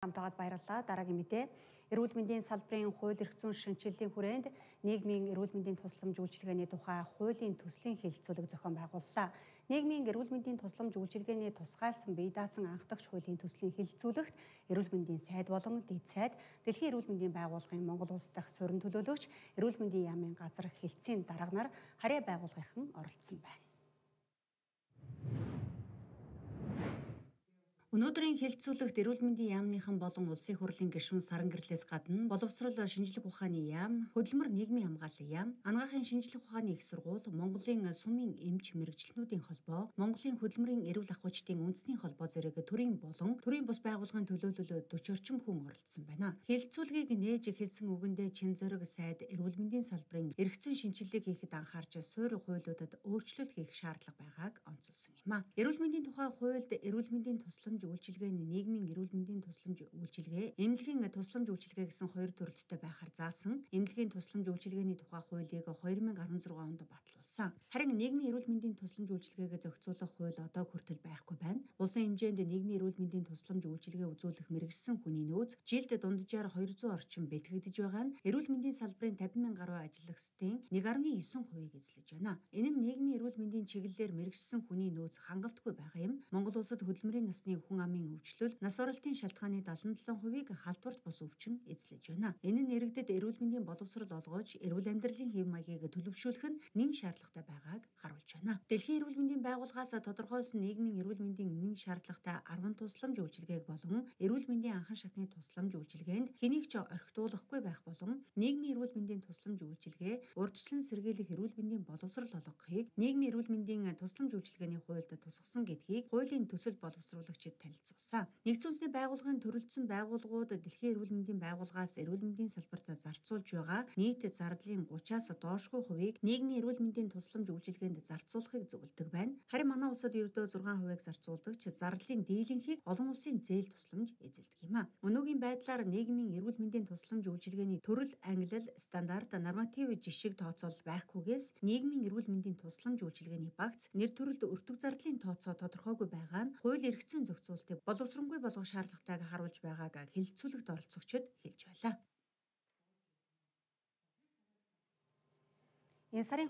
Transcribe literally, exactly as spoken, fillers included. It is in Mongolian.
Хамтагаад баярлалаа. Дараагийн мэдээ. Эрүүл мэндийн салбарын хууль эрх зүйн шинжилгээний хүрээнд нийгмийн эрүүл мэндийн тусламж үйлчилгээний тухай хуулийн төслийн хэлэлцүүлэг зохион байгууллаа. Нийгмийн эрүүл мэндийн тусламж үйлчилгээний тусгайлсан бие даасан анх дахь хуулийн төслийн хэлэлцүүлэгт эрүүл мэндийн сайд болон дэд сайд, Дэлхийн эрүүл мэндийн байгууллагын Монгол улс дахь суурин төлөөлөгч, эрүүл мэндийн яамын газар хэлтсийн дарга нар харьяа байгууллагын оролцсон байна. Өнөөдрийн хэлэлцүүлэгт эрүүл мэндийн яамныхан болон улсын хурлын гишүүн Саран гэрлээс гадна боловсрол шинжлэх ухааны яам, хөдөлмөр нийгмийн хамгааллын яам, анагаахын шинжлэх ухааны их сургууль, Монголын сумын эмч мэргэжилтнүүдийн холбоо, Монголын хөдөлмөрийн эрүүл ахуйчдын үндэсний холбоо зэрэг төрийн болон төрийн бус байгууллагын төлөөлөл forty орчим хүн оролцсон байна. Хэлэлцүүлгийг нээж хэлсэн үгэндээ Чин зориг сайд эрүүл мэндийн салбарын эрх зүйн шинжилгээг хийхэд анхаарч суурь хуулиудад өөрчлөлт хийх шаардлага байгааг онцолсон юм а. Эрүүл мэндийн тухай хуульд эрүүл мэндийн тусламж үйлчилгээний нийгмийн эрүүл мэндийн тусламж үйлчилгээ, эмнэлгийн тусламж үйлчилгээ гэсэн хоёр төрөлттэй байхаар заасан. Эмнэлгийн тусламж үйлчилгээний тухай хуулийг two thousand sixteen онд батлуулсан. Харин нийгмийн эрүүл мэндийн тусламж үйлчилгээг зохицуулах хууль одоо хүртэл байхгүй байна. Улсын хэмжээнд нийгмийн эрүүл мэндийн тусламж үйлчилгээ үзүүлэх мэргэжсэн хүний нөөц жилд дунджаар two hundred орчим бэлтгэгдэж байгаа нь эрүүл мэндийн салбарын fifty thousand гаруй ажиллагчдын one point nine хувийг эзлэж байна. Энэ нь нийгмийн эрүүл мэндийн чиглэлээр мэргэжсэн хүний нөөц хангалтгүй байгаа юм. Монгол улсад хөдөлмөрийн насны хүн амын өвчлөл, нас оролтын шалтгааны seventy-seven хувийг халдварт бус өвчин эзлэж байна. Энэ нь иргэдэд эрүүл мэндийн боловсрол олгож, эрүүл амьдралын хэв маягийг төлөвшүүлэх нь нэн шаардлагатай байгааг харуулж байна. Дэлхийн эрүүл мэндийн байгууллагаас тодорхойлсон нийгмийн эрүүл мэндийн нэн шаардлагатай ten тусламж үйлчилгээг болон эрүүл мэндийн анхан шатны тусламж үйлчилгээнд хэнийг ч орхитуулахгүй байх болон нийгмийн эрүүл мэндийн тусламж үйлчилгээ, урьдчилан сэргийлэх эрүүл мэндийн боловсрол олгохыг нийгмийн эрүүл мэндийн тусламж үйлчилгээний хуульд тусгасан гэдгийг хуулийн төсөл боловсруулагчид танилцуулсан. Нэгдсэн үндэсний байгууллагын төрөлдсөн байгууллагууд Дэлхийн эрүүл мэндийн байгууллагаас эрүүл мэндийн салбарт зарцуулж байгаа нийт зардлын thirty-аас доошгүй хувийг нийгмийн эрүүл мэндийн тусламж үйлчилгээнд зарцуулахыг зөвлөдөг байна. Харин манай улсад ердөө six хувийг зарцуулдаг ч зардлын дийлэнхийг олон улсын зээл тусламж эзэлдэг юм а. Өнөөгийн байдлаар нийгмийн эрүүл мэндийн тусламж үйлчилгээний төрөл, ангилал, стандарт, норматив жишиг тооцоол байхгүйгээс нийгмийн эрүүл мэндийн тусламж үйлчилгээний багц нэр төрөлд өртөг зардлын тооцоо тодорхойгүй байгаа нь хууль эрх зүйн зохицуултыг боловсронгүй болгох шаардлагатайг харуулж байгааг хэлэлцүүлэгт оролцогчид хэлж байлаа. Энэ сарын